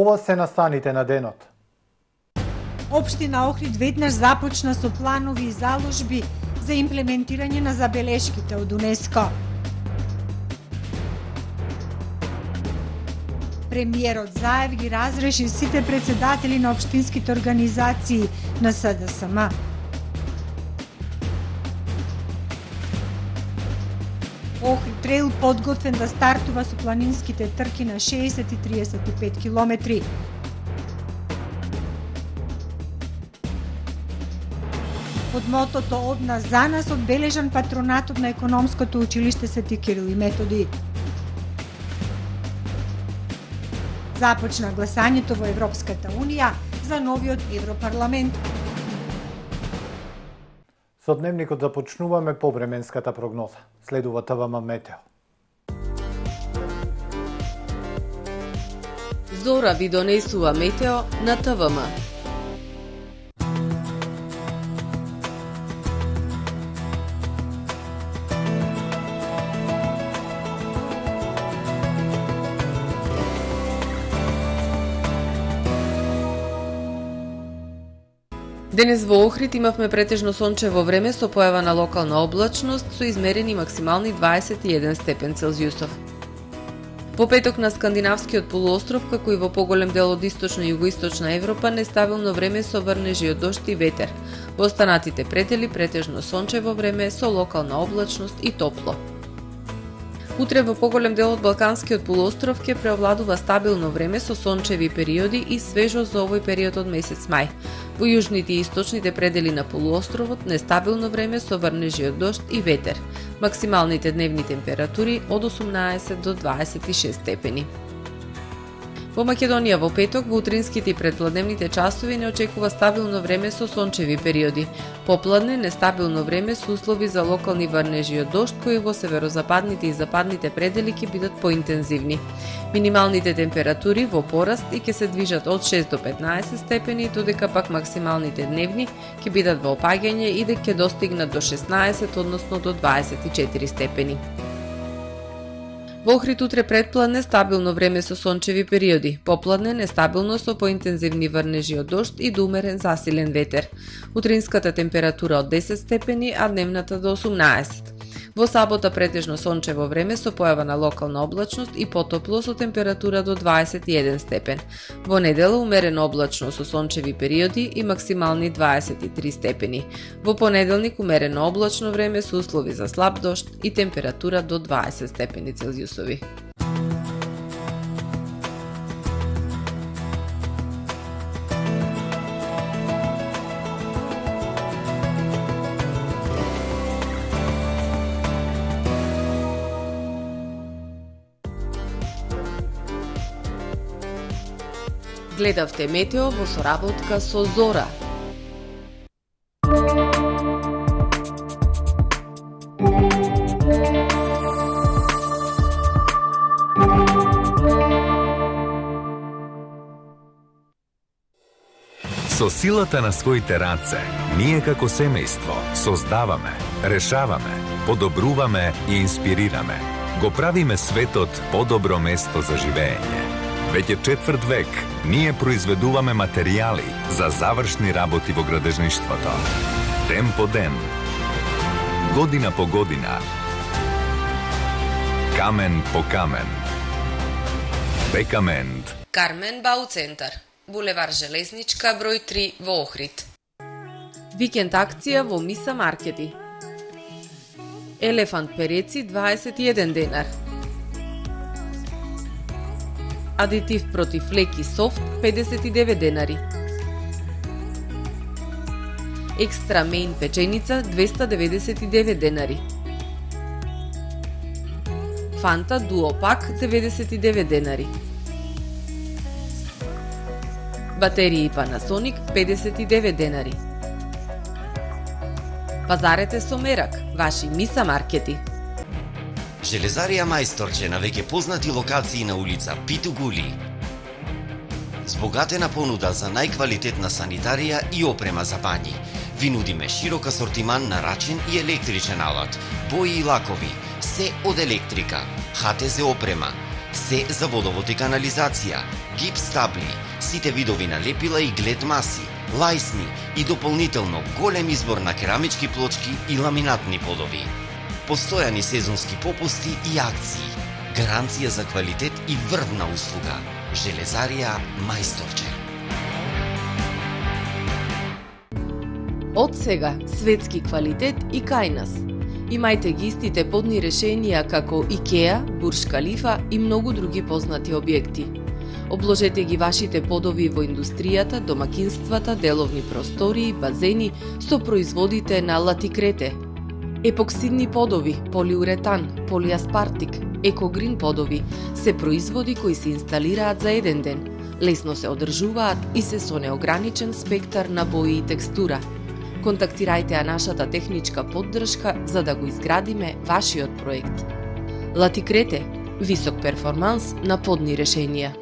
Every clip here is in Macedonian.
Ова се настаните на денот. Општина Охрид веднаш започна со планови и заложби за имплементирање на забелешките од УНЕСКО. Премиерот Заев ги разреши сите председатели на општинските организации на СДСМ. Охрид трейл подготвен да стартува со планинските трки на 60 и 35 километри. Под мотото "Од нас за нас" одбележан патронатот на економското училиште Свети Кирил и Методи. Започна гласањето во Европската Унија за новиот Европарламент. Со дневникот започнуваме повременската прогноза. Следува ТВМ Метео. Зора ви донесува метео на ТВМ. Денес во Охрид имавме претежно сончево време со појава на локална облачност со измерени максимални 21 степен Целзиусов. Во петок на скандинавскиот полуостров, како и во поголем дел од источна и југоисточна Европа, нестабилно време со врнежи од дожд и ветер. Во останатите предели претежно сончево време со локална облачност и топло. Утре во поголем дел од Балканскиот полуостров ќе преовладува стабилно време со сончеви периоди и свежо за овој период од месец мај. Во јужните и источните предели на полуостровот нестабилно време со врнежи од дожд и ветер. Максималните дневни температури од 18 до 26 степени. Во Македонија во петок во утринските и предпладневните часови не очекува стабилно време со сончеви периоди. Попладне нестабилно време со услови за локални врнежи од дожд кои во северозападните и западните предели ќе бидат поинтензивни. Минималните температури во пораст и ќе се движат од 6 до 15 степени, додека пак максималните дневни ќе бидат во опаѓање и дека ќе достигнат до 16, односно до 24 степени. Во Охрид утре предпладне стабилно време со сончеви периоди, попладне нестабилно со поинтензивни врнежи од дожд и до умерен засилен ветер. Утринската температура од 10 степени, а дневната до 18. Во сабота претежно сончево време со појава на локална облачност и потопло со температура до 21 степен. Во недела умерено облачно со сончеви периоди и максимални 23 степени. Во понеделник умерено облачно време со услови за слаб дожд и температура до 20 степени Целзиусови. Гледавте метео во соработка со Зора. Со силата на своите раце, ние како семејство создаваме, решаваме, подобруваме и инспирираме. Го правиме светот подобро место за живење. Веќе 4 век ние произведуваме материјали за завршни работи во градежништвото. Ден по ден, година по година, камен по камен. Бекамент. Кармен Бау центар, булевар Железничка, број 3 во Охрид. Викенд акција во Миса маркети. Елефант переци 21 денар. Адитив против леки софт 59 денари. Екстра мейн печеница 299 денари. Фанта дуопак 99 денари. Батерии Panasonic 59 денари. Пазарете со мерак, ваши Миса маркети. Железарија Мајсторче на веќе познати локации на улица Питу Гули. Збогатена понуда за најквалитетна санитарија и опрема за бањи. Ви нудиме широк асортиман на рачен и електричен алат, бои и лакови, се од електрика, ХТЗ опрема, се за водовод и канализација, гипс табли, сите видови на лепила и глед маси, лајсни и дополнително голем избор на керамички плочки и ламинатни подови. Постојани сезонски попусти и акции. Гаранција за квалитет и врвна услуга. Железарија Мајсторче. Од сега, светски квалитет и кај нас. Имајте ги истите подни решенија како Икеа, Бурж Калифа и многу други познати објекти. Обложете ги вашите подови во индустријата, домакинствата, деловни простории, базени со производите на Латикрете. Епоксидни подови, полиуретан, полиаспартик, екогрин подови се производи кои се инсталираат за еден ден, лесно се одржуваат и се со неограничен спектар на бои и текстура. Контактирајте ја нашата техничка поддршка за да го изградиме вашиот проект. Латикрете, висок перформанс на подни решенија.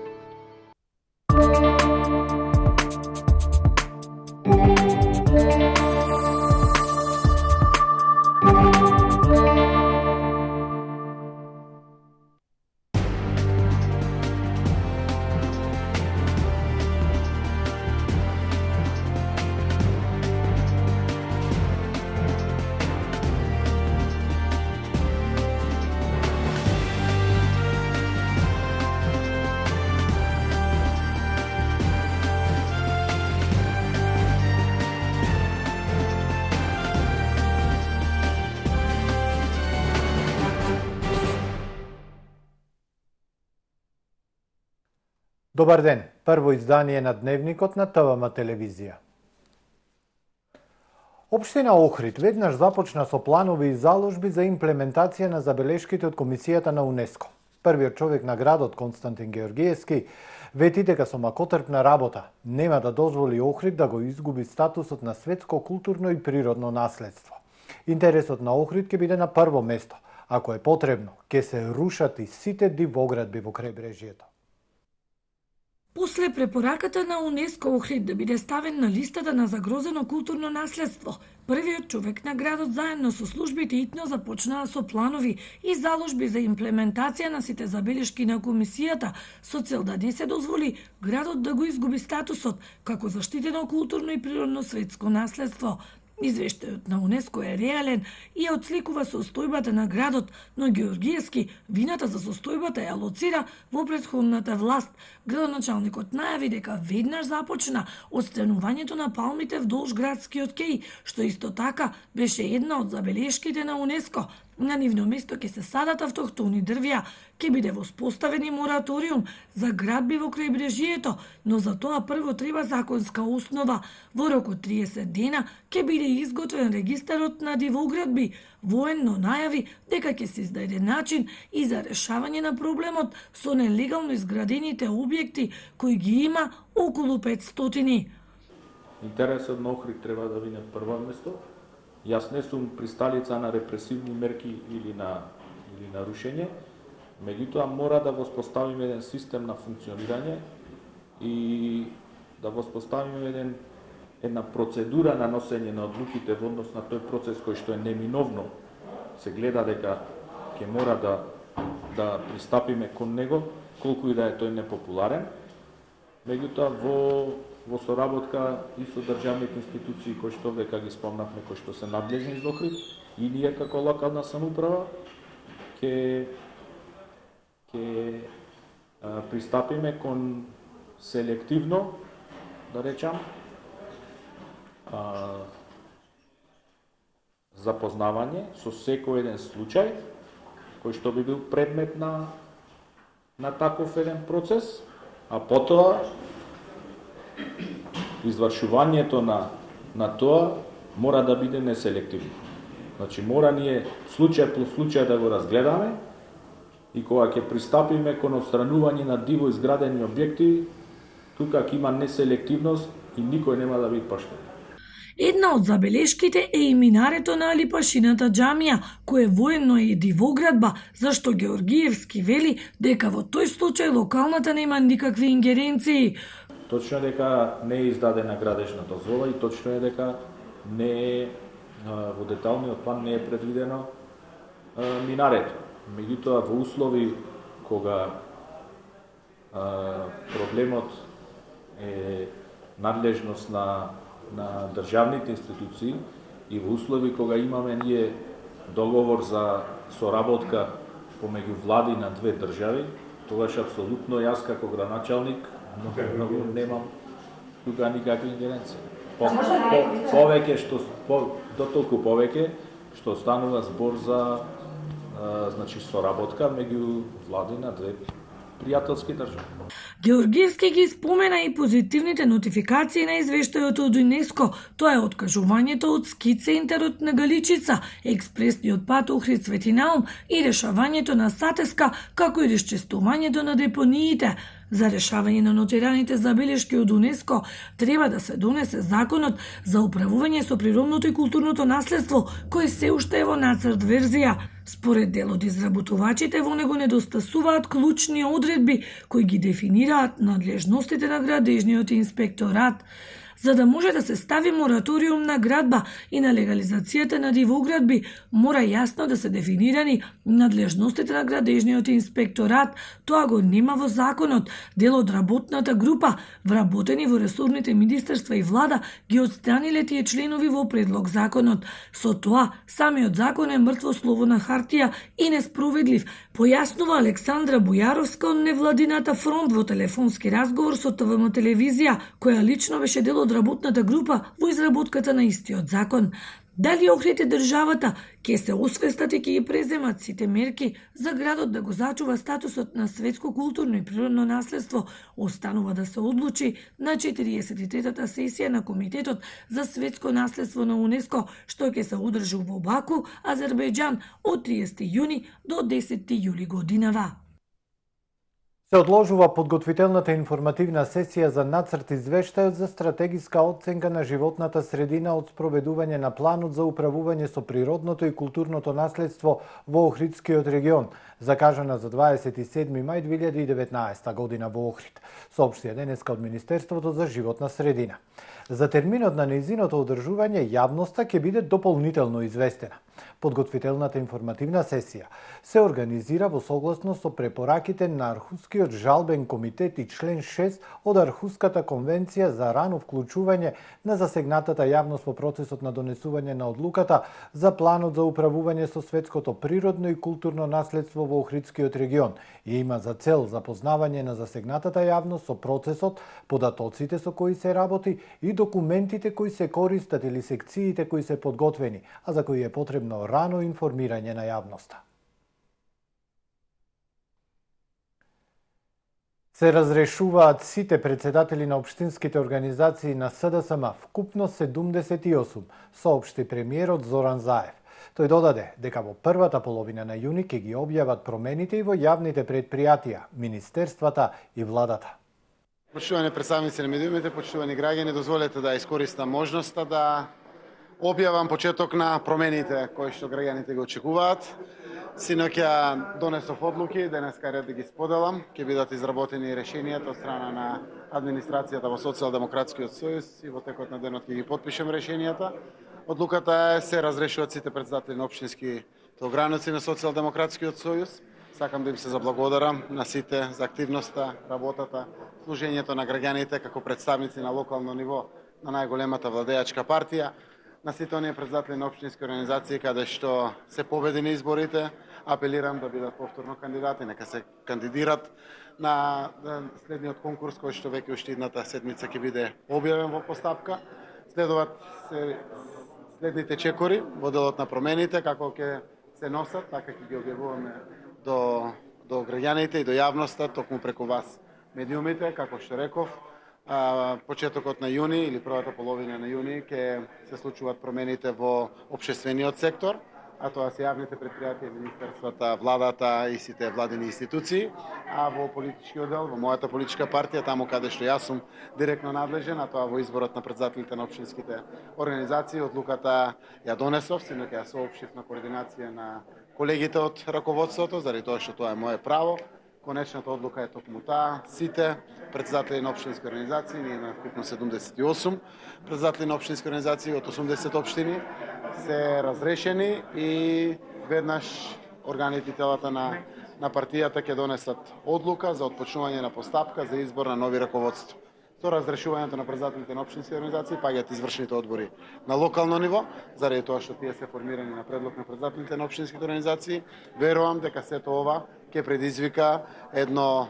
Добар ден, прво издание на Дневникот на ТВМ телевизија. Општина Охрид веднаш започна со планови и заложби за имплементација на забелешките од Комисијата на УНЕСКО. Првиот човек на градот, Константин Георгиевски, вети дека со макотрпна работа нема да дозволи Охрид да го изгуби статусот на светско културно и природно наследство. Интересот на Охрид ќе биде на прво место. Ако е потребно, ќе се рушат и сите дивоградби во крајбрежјето. После препораката на УНЕСКО Охрид да биде ставен на листата на загрозено културно наследство, првиот човек на градот заедно со службите итно започнаа со планови и заложби за имплементација на сите забелешки на комисијата со цел да не се дозволи градот да го изгуби статусот како заштитено културно и природно светско наследство. Извештајот на УНЕСКО е реален и отсликува состојбата на градот, но Георгиевски вината за состојбата ја лоцира во претходната власт. Градоначалникот најави дека веднаш започна отстранувањето на палмите вдолж градскиот кеј, што исто така беше една од забелешките на УНЕСКО. На нивно место ќе се садат автохтони дрвја, ќе биде воспоставен и мораториум за градби во крајбрежјето, но за тоа прво треба законска основа. Во рок од 30 дена ќе биде изготвен регистарот на дивоградби. Военно најави дека ќе се издаде начин и за решавање на проблемот со нелегално изградените објекти кои ги има околу 500. Интересот на Охрид треба да биде прво место. Јас не сум присталица на репресивни мерки или на рушење, меѓутоа мора да воспоставиме еден систем на функционирање и да воспоставиме една процедура на носење на одлуките во однос на тој процес кој што е неминовно се гледа дека ќе мора да пристапиме кон него, колку и да е тој непопуларен. Меѓутоа во соработка и со државните институции кои што века ги спомнавме, кои што се надлежни за Охрид, и ние како локална самоуправа ќе пристапиме кон селективно, да речам, запознавање со секој еден случај кој што би бил предмет на таков еден процес, а потоа извршувањето на тоа мора да биде неселективно. Значи мора ние случај по случај да го разгледаме и кога ќе пристапиме кон отстранување на диво изградени објекти, тука ќе има неселективност и никој нема да биде поштен. Една од забелешките е и минарето на Алипашината џамија, кое военно е дивоградба, зашто Георгиевски вели дека во тој случај локалната нема никакви ингеренции. Точно е дека не е издадена градежна дозвола и точно е дека не е во деталниот план не е предвидено минарето. Меѓутоа во услови кога проблемот е надлежност на државните институции и во услови кога имаме ние договор за соработка помеѓу влади на две држави, тогаш апсолутно јас како градоначалник многу немам тука никакви ингеренции. Повеќе што дотолку повеќе што станува збор за значи соработка меѓу влади на две пријателски држави. Георгиевски ги спомена и позитивните нотификации на извештајот од ЮНЕСКО, тоа е откажувањето од ски центарот на Галичица, експресниот пат Охрид-Свети Наум и решавањето на Сатеска, како и расчистувањето на депониите. За решавање на нотираните забелешки од ЮНЕСКО треба да се донесе законот за управување со природното и културното наследство, кој се уште е во нацрт верзија. Според дел од изработувачите, во него недостасуваат клучни одредби кои ги дефинираат надлежностите на градежниот инспекторат. За да може да се стави мораториум на градба и на легализацијата на дивоградби, мора јасно да се дефинирани надлежностите на градежниот инспекторат. Тоа го нема во законот. Дел од работната група, вработени во ресорните министерства и влада, ги отстраниле тие членови во предлог законот. Со тоа, самиот закон е мртво слово на хартија и неспроведлив, појаснува Александра Бујаровска од невладината фронт во телефонски разговор со ТВМ телевизија, која лично беше дел од работната група во изработката на истиот закон. Дали Охрид и државата ќе се освестат и ќе ги преземат сите мерки за градот да го зачува статусот на светско културно и природно наследство, останува да се одлучи на 43-та сесија на Комитетот за светско наследство на ЮНЕСКО, што ќе се одржи во Баку, Азербејџан од 30 јуни до 10 јули годинава. Се одложува подготвителната информативна сесија за нацрт извештајот за стратегиска оценка на животната средина од спроведување на планот за управување со природното и културното наследство во Охридскиот регион, закажана за 27 мај 2019 година во Охрид, соопштија денеска од Министерството за животна средина. За терминот на нејзиното одржување јавноста ќе биде дополнително известена. Подготвителната информативна сесија се организира во согласност со препораките на Архускиот жалбен комитет и член 6 од Архуската конвенција за рано вклучување на засегнатата јавност во процесот на донесување на одлуката за планот за управување со светското природно и културно наследство во Охридскиот регион и има за цел запознавање на засегнатата јавност со процесот, податоците со кои се работи и документите кои се користат или секциите кои се подготвени, а за кои е потребно рано информирање на јавноста. Се разрешуваат сите председатели на општинските организации на СДСМ, вкупно 78, соопшти премиерот Зоран Заев. Тој додаде дека во првата половина на јуни ќе ги објават промените и во јавните предпријатија, министерствата и владата. Почитувани представници на медиумите, почитувани граѓани, дозволете да искористам можноста да објавам почеток на промените кои што граѓаните ги очекуваат. Синоќа донесов одлуки, денеска ред да ги споделам, ќе бидат изработени решенијата од страна на администрацијата во Социјалдемократскиот сојуз и во текот на денот ќе ги потпишем решенијата. Одлуката е се разрешуваат сите председатели на општински ограници на Социјалдемократскиот сојуз. Сакам да им се заблагодарам на сите за активноста, работата, служењето на граѓаните како представници на локално ниво на најголемата владеачка партија, на сите оние председатели на општински организации каде што се победени изборите, апелирам да бидат повторно кандидати, нека се кандидират на следниот конкурс кој што веќе уште идната седмица ќе биде објавен во постапка. Следуваат следните чекори во делот на промените, како ќе се носат, така ќе ги објавуваме до граѓаните и до јавноста, токму преку вас медиумите, како што реков. Почетокот на јуни или првата половина на јуни ќе се случуваат промените во општествениот сектор, а тоа се јавните предпријатија, министерствата, владата и сите владени институции, а во политичкиот дел, во мојата политичка партија, таму каде што јас сум директно надлежен, а тоа во изборот на председателите на општинските организации, одлуката ја донесов, синоќа ја соопштив на координација на колегите од раководството, заради тоа што тоа е мое право. Конечната одлука е токму таа. Сите председатели на општински организации, ние имаме вкупно 78 председатели на општински организации од 80 општини, се разрешени и веднаш органите и телата на на партијата ќе донесат одлука за отпочнување на постапка за избор на нови раководство. Со разрешувањето на председателите на општински организации паѓаат извршните одбори на локално ниво, заради тоа што тие се формирани на предлог на председателите на општинските организации. Верувам дека сето ова ќе предизвика едно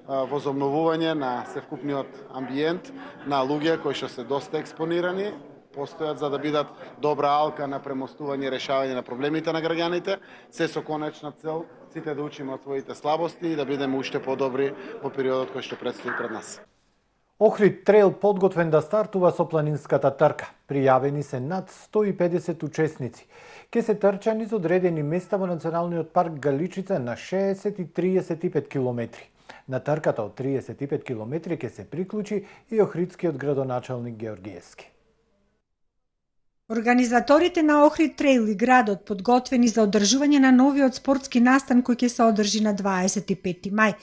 возобновување на севкупниот амбиент на луѓе кои што се доста експонирани, постојат за да бидат добра алка на премостување и решавање на проблемите на граѓаните, се со конечна цел сите да учиме од своите слабости и да бидеме уште подобри во периодот кој што предстои пред нас. Охрид трейл подготвен да стартува со планинската трка. Пријавени се над 150 учесници. Ке се трча низ одредени места во Националниот парк Галичица на 60 и 35 километри. На трката од 35 километри ке се приклучи и охридскиот градоначалник Георгиевски. Организаторите на Охрид трейл и градот подготвени за одржување на новиот спортски настан кој ќе се одржи на 25 мај.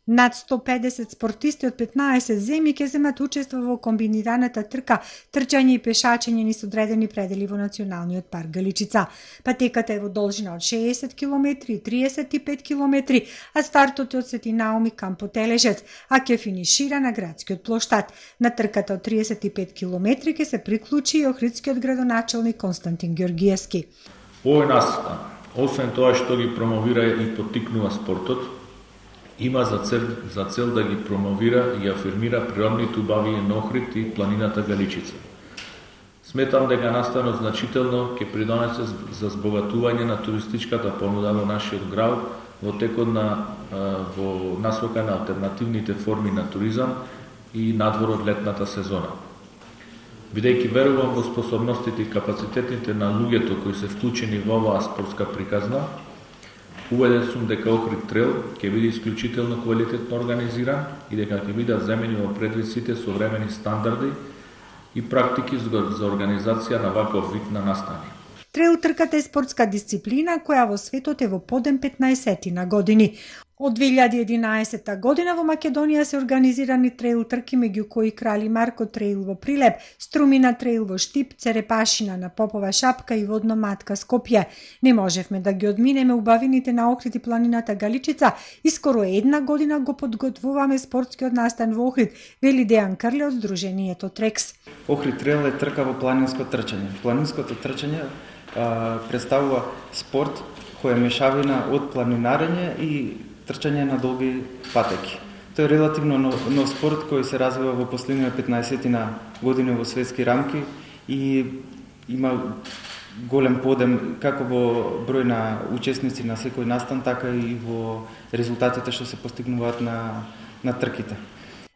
Над 150 спортисти од 15 земји ќе земат учество во комбинираната трка, трчање и пешачење низ одредени предели во Националниот парк Галичица. Патеката е во должина од 60 км и 35 км, а стартот е од Свети Науми кам Потележец, а ќе финишира на градскиот плоштад. На трката од 35 км ќе се приклучи и охридскиот градоначалник Константин Георгиевски. Овој настан, освен тоа што ги промовира и поттикнува спортот, има за цел да ги промовира и афирмира природните убавини на Охрид и планината Галичица. Сметам дека настанот значително ќе придонесе за збогатување на туристичката понуда во нашиот град во текот во насока на алтернативните форми на туризам и надвор од летната сезона. Бидејќи верувам во способностите и капацитетите на луѓето кои се вклучени во оваа спортска приказна, уведен сум дека Охрид трейл ќе биде исклучително квалитетно организиран и дека ќе бидат земени во предвид сите современи стандарди и практики за организација на ваков вид на настани. Трейл трката е спортска дисциплина која во светот е во подем 15 на години. Од 2011 година во Македонија се организирани трейл трки меѓу кои Крали Марко трейл во Прилеп, Струмина трейл во Штип, Церепашина на Попова шапка и Водно Матка Скопје. Не можевме да ги одминеме убавините на Охрид и планината Галичица и скоро една година го подготвуваме спортскиот настан во Охрид, вели Дејан Крле од Сдруженијето Трекс. Охрид трейл е трка во планинско трчање. Планинското трчање представува спорт кој е мешавина од планинарење и трчање на долги патеки. Тој е релативно нов спорт кој се развива во последните 15 години во светски рамки и има голем подем како во број на учесници на секој настан, така и во резултатите што се постигнуваат на трките.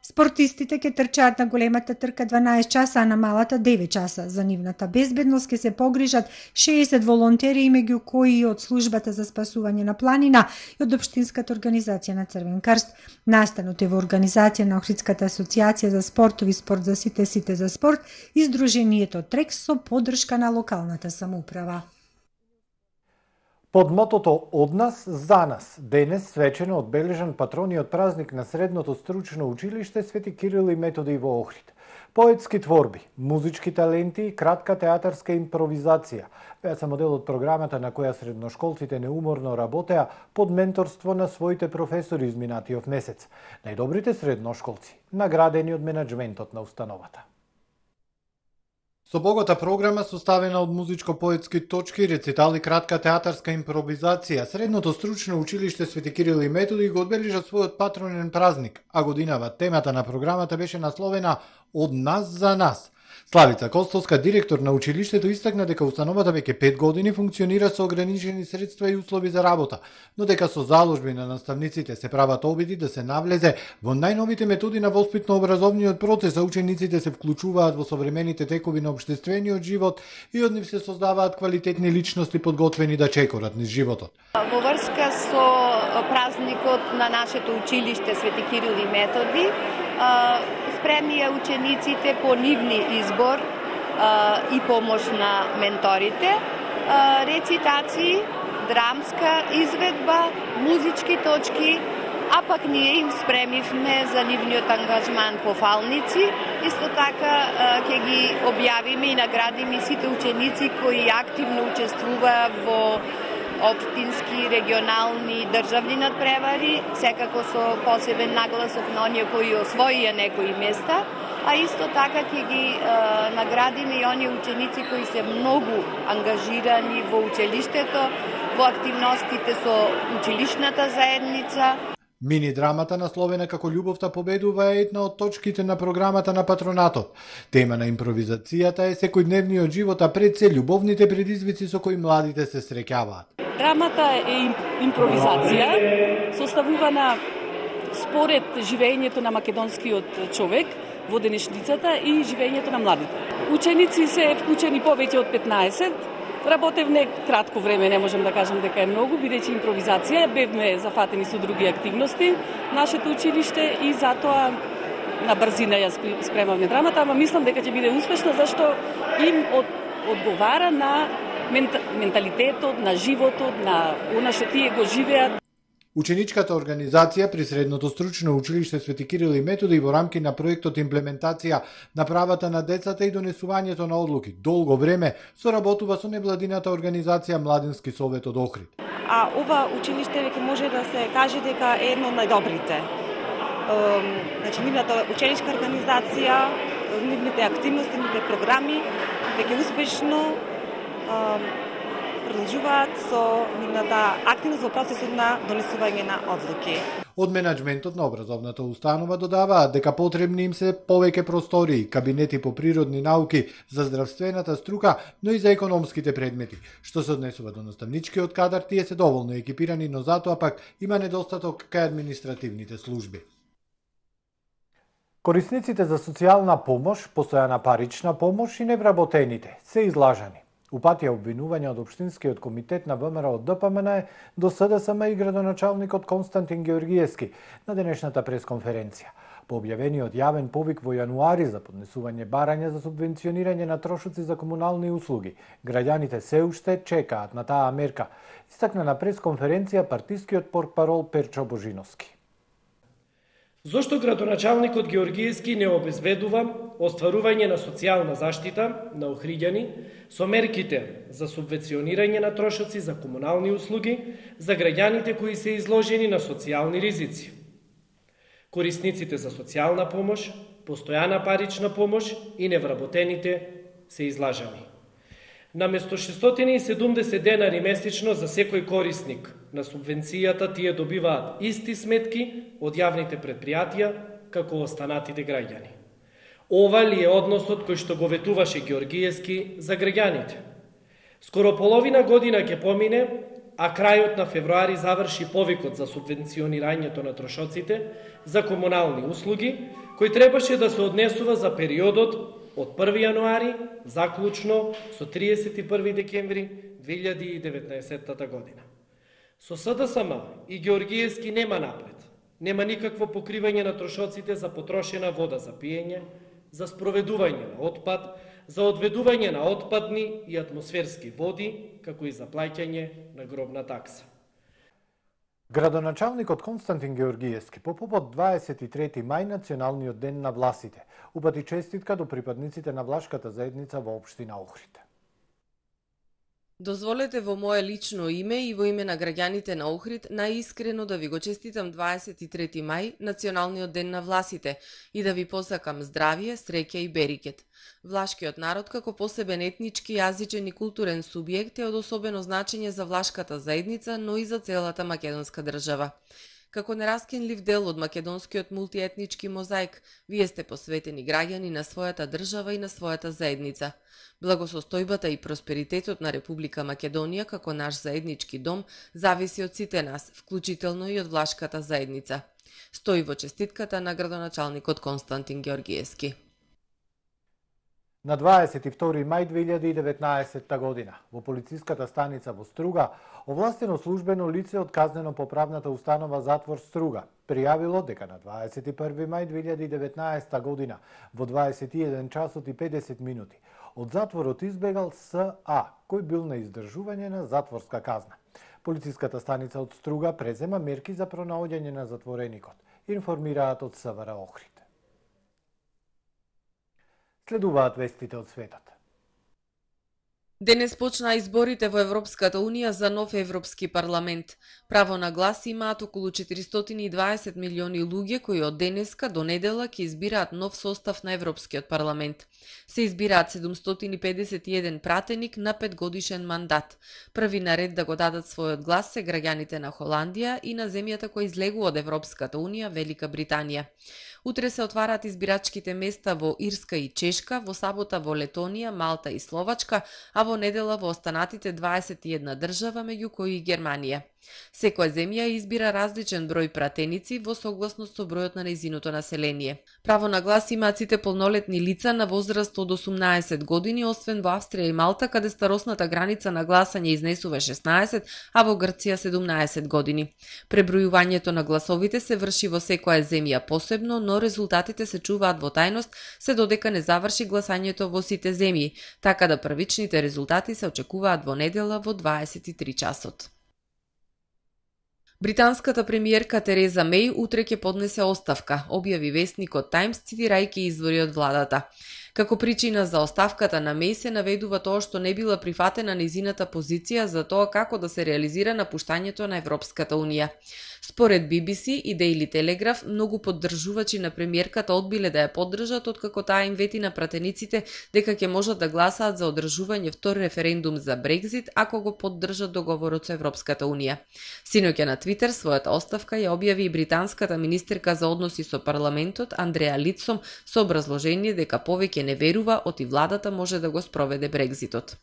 Спортистите ќе трчаат на големата трка 12 часа, а на малата 9 часа. За нивната безбедност ќе се погрижат 60 волонтери, меѓу кои и од службата за спасување на планина и од Општинската организација на Црвен крст. Настанот е во организација на Охридската асоциација за спортови спорт за сите за спорт и Сдруженијето Трекс со поддршка на локалната самоуправа. Под мотото «Од нас, за нас» денес свечено одбележан патрониот празник на Средното стручно училиште Свети Кирил и Методи во Охрид. Поетски творби, музички таленти и кратка театарска импровизација беа само дел од програмата на која средношколците неуморно работеа под менторство на своите професори изминатиот месец. Најдобрите средношколци наградени од менаџментот на установата. Со богата програма составена од музичко-поетски точки, рецитали, кратка театарска импровизација, Средното стручно училиште Свети Кирил и Методи го одбележа својот патронен празник, а годинава темата на програмата беше насловена «Од нас за нас». Славица Костовска, директор на училиштето, истакна дека установата веќе 5 години функционира со ограничени средства и услови за работа, но дека со заложби на наставниците се прават обиди да се навлезе во најновите методи на воспитно-образовниот процес, а учениците се вклучуваат во современите текови на општествениот живот и од нив се создаваат квалитетни личности подготвени да чекорат низ животот. Во врска со празникот на нашето училиште Свети Кирил и Методи, спремија учениците по нивни избор и помош на менторите, рецитации, драмска изведба, музички точки, а пак ние им спремивме за нивниот ангажман пофалници. Исто така ќе ги објавиме и наградиме сите ученици кои активно учествуваа во општински, регионални, државни надпревари, секако со посебен нагласок на оние кои освоија некои места, а исто така ќе ги наградиме и оние ученици кои се многу ангажирани во училиштето, во активностите со училишната заедница. Мини драмата насловена како Љубовта победува е една од точките на програмата на патронатот. Тема на импровизацијата е секојдневниот живот, а пред се љубовните предизвици со кои младите се среќаваат. Драмата е импровизација, составувана според живеењето на македонскиот човек во денешницата и живеењето на младите. Ученици се вклучени повеќе од 15, работевме кратко време, не можем да кажем дека е многу, бидејќи импровизација, бевме зафатени со други активности, нашето училиште и затоа на брзина ја спремавме драмата, ама мислам дека ќе биде успешна, зашто им одговара на менталитетот, на животот, на она што тие го живеат. Ученичката организација при Средното стручно училиште Свети Кирил и Методи во рамки на проектот имплементација на правата на децата и донесувањето на одлуки долго време соработува со невладината организација Младински совет од Охрид. А ова училиште веќе може да се каже дека е едно од најдобрите. Значи, нивната ученичка организација, нивните активности, нивните програми веќе успешно продолжуваат со нивната активност во процесот на донесување на одлуки. Од менаџментот на образовната установа додаваат дека потребни им се повеќе простории, кабинети по природни науки за здравствената струка, но и за економските предмети. Што се однесува до наставничкиот кадар, тие се доволно екипирани, но затоа пак има недостаток кај административните служби. Корисниците за социјална помош, постојана парична помош и невработените се излажани. Упатија обвинување од Општинскиот комитет на ВМРО од ДПМН до СДСМ и градоначалникот Константин Георгиевски на денешната пресконференција. По објавениот јавен повик во јануари за поднесување барања за субвенционирање на трошоци за комунални услуги, граѓаните се уште чекаат на таа мерка, истакна на пресконференција партискиот портпарол Перчо Божиновски. Зошто градоначалникот Георгиевски не обезбедува остварување на социјална заштита на охриѓани со мерките за субвенционирање на трошоци за комунални услуги за граѓаните кои се изложени на социјални ризици? Корисниците за социјална помош, постојана парична помош и невработените се излажани. Наместо 670 денари месечно за секој корисник на субвенцијата, тие добиваат исти сметки од јавните предпријатија како останатите граѓани. Ова ли е односот кој што го ветуваше Георгиевски за граѓаните? Скоро половина година ќе помине, а крајот на февруари заврши повикот за субвенционирањето на трошоците за комунални услуги, кој требаше да се однесува за периодот од 1 јануари заклучно со 31 декември 2019 година. Со СДСМ и Георгиевски нема напред. Нема никакво покривање на трошоците за потрошена вода за пиење, за спроведување на отпад, за одведување на отпадни и атмосферски води, како и за плаќање на гробна такса. Градоначалникот Константин Георгиевски по повод 23 мај националниот ден на власите упати честитка до припадниците на влашката заедница во општина Охрид. Дозволете во мое лично име и во име на граѓаните на Охрид најискрено да ви го честитам 23 мај, националниот ден на власите, и да ви посакам здравје, среќа и берикет. Влашкиот народ како посебен етнички, јазичен и културен субјект е од особено значење за влашката заедница, но и за целата македонска држава. Како нераскинлив дел од македонскиот мултиетнички мозаик, вие сте посветени граѓани на својата држава и на својата заедница. Благосостојбата и просперитетот на Република Македонија како наш заеднички дом зависи од сите нас, вклучително и од влашката заедница. Стои во честитката на градоначалникот Константин Георгиевски. На 22 мај 2019 година во полициската станица во Струга овластено службено лице од казнено-поправната установа Затвор Струга пријавило дека на 21 мај 2019 година во 21 часот и 50 минути од затворот избегал С.А, кој бил на издржување на затворска казна. Полициската станица од Струга презема мерки за пронаоѓање на затвореникот, информираат од СВР Охрид. Следуваат вестите од светот. Денес почнаа изборите во Европската Унија за нов Европски парламент. Право на глас имаат околу 420 милиони луѓе кои од денеска до недела ќе избираат нов состав на Европскиот парламент. Се избираат 751 пратеник на 5-годишен мандат. Први на ред да го дадат својот глас се граѓаните на Холандија и на земјата која излегува од Европската Унија, Велика Британија. Утре се отвараат избирачките места во Ирска и Чешка, во сабота во Летонија, Малта и Словачка, а во недела во останатите 21 држава, меѓу кои и Германија. Секоја земја избира различен број пратеници во согласност со бројот на нејзиното население. Право на глас имаат сите полнолетни лица на возраст од 18 години, освен во Австрија и Малта, каде старосната граница на гласање изнесува 16, а во Грција 17 години. Пребројувањето на гласовите се врши во секоја земја посебно, но резултатите се чуваат во тајност се додека не заврши гласањето во сите земји, така да првичните резултати се очекуваат во недела во 23 часот. Британската премиерка Тереза Меј утре ќе поднесе оставка, објави весникот Таймс цитирајќи извори од владата. Како причина за оставката на Меј се наведува тоа што не била прифатена нејзината позиција за тоа како да се реализира напуштањето на Европската Унија. Според BBC и Daily Telegraph, многу поддржувачи на премиерката одбиле да ја поддржат откако таа им вети на пратениците дека ќе можат да гласаат за одржување втор референдум за Брекзит ако го поддржат договорот со Европската Унија. Синоќа на Твитер својата оставка ја објави и британската министерка за односи со парламентот Андреа Лицом со образложение дека повеќе не верува оти владата може да го спроведе Брекзитот.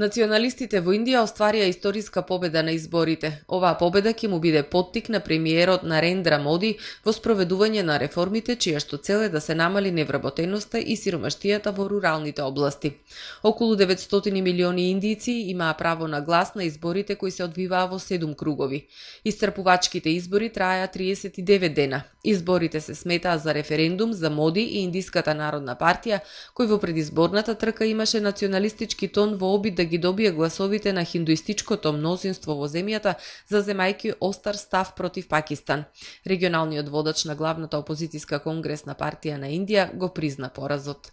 Националистите во Индија остварија историска победа на изборите. Оваа победа ќе му биде поттик на премиерот Нарендра Моди во спроведување на реформите чија што цел е да се намали невработеноста и сиромаштијата во руралните области. Околу 900 милиони индијци имаа право на глас на изборите кои се одвиваа во 7 кругови. Истрпувачките избори траја 39 дена. Изборите се сметаа за референдум за Моди и Индиската народна партија, кој во предизборната трка имаше националистички тон во обид да ги добие гласовите на хиндуистичкото мнозинство во земјата, заземајќи остар став против Пакистан. Регионалниот водач на главната опозицијска конгресна партија на Индија го призна поразот.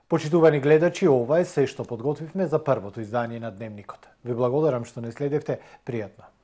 Почитувани гледачи, ова е се што подготвивме за првото издание на Дневникот. Ви благодарам што не следевте, пријатно.